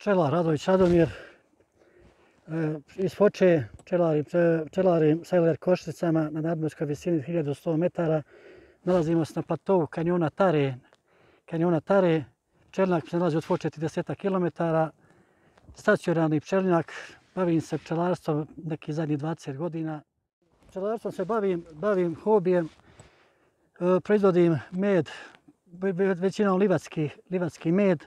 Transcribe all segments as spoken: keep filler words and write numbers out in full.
Pčelar Radović Radomir, iz Foče pčelarim sa el er košicama na nadmorskoj visini hiljadu sto metara. Nalazimo se na platovu kanjona Tare. Kanjona Tare, pčelinjak se nalazi od Foče trideset kilometara. Stacionarni pčelinjak, bavim se pčelarstvom nekih zadnjih dvadeset godina. Pčelarstvom se bavim, bavim hobijem, proizvodim med, većinom livatski, livatski med,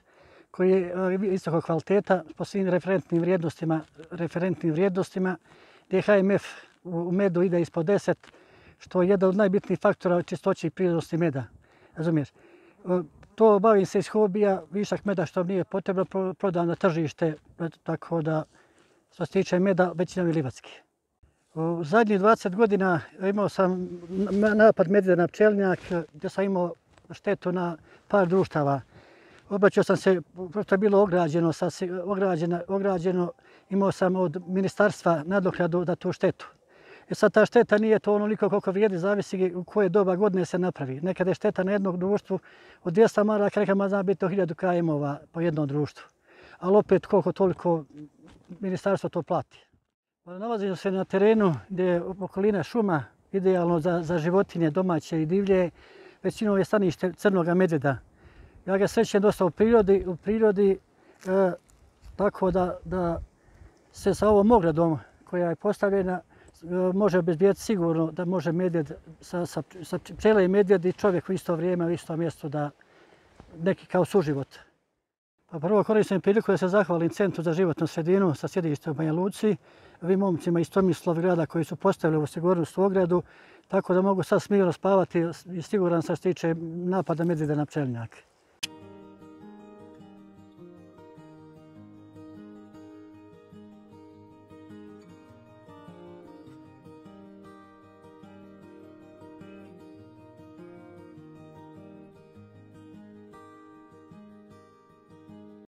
koji je visokog kvaliteta po svim referentnim vrijednostima, referentnim vrijednostima, gdje ha em ef u medu ide ispod deset, što je jedan od najbitnijih faktora čistoće i prirodnosti meda. Razumiješ? To bavim se iz hobija, višak meda što nije potrebno, prodam na tržište, tako da što se tiče meda, većinom je livatski. U zadnjih dvadeset godina imao sam napad medvjeda na pčelinjak, gdje sam imao štetu na par društava. Obraćao sam se, prosto je bilo ograđeno, ograđeno, ograđeno, imao sam od ministarstva nadoknadu za tu štetu. I sad ta šteta nije to onoliko koliko vrijedi, zavisi u koje doba godine se napravi. Nekada je šteta na jednog društvu od dvjesto maraka, nekada zna biti hiljadu kajmova po jednom društvu. Ali opet koliko toliko ministarstvo to plati. Nalazimo se na terenu gdje je okolina šuma, idealno za, za životinje domaće i divlje. Većinom je stanište crnog medvjeda. Ja ga srećem dosta u prirodi, u prirodi e, tako da, da se sa ovom ogradom koja je postavljena e, može obezbijeti sigurno da može medvjed sa, sa, sa pčele i medvjed i čovjek u isto vrijeme, u istom mjestu da neki kao suživot. Pa prvo koristim priliku da se zahvalim Centru za životnu sredinu sa sjedištem u Banja Luci, ovim momcima iz Tomislavgrada koji su postavili ovu sigurnosnu ogradu, tako da mogu sad smirno spavati i siguran sam što se tiče napada medvjeda na pčelinjak.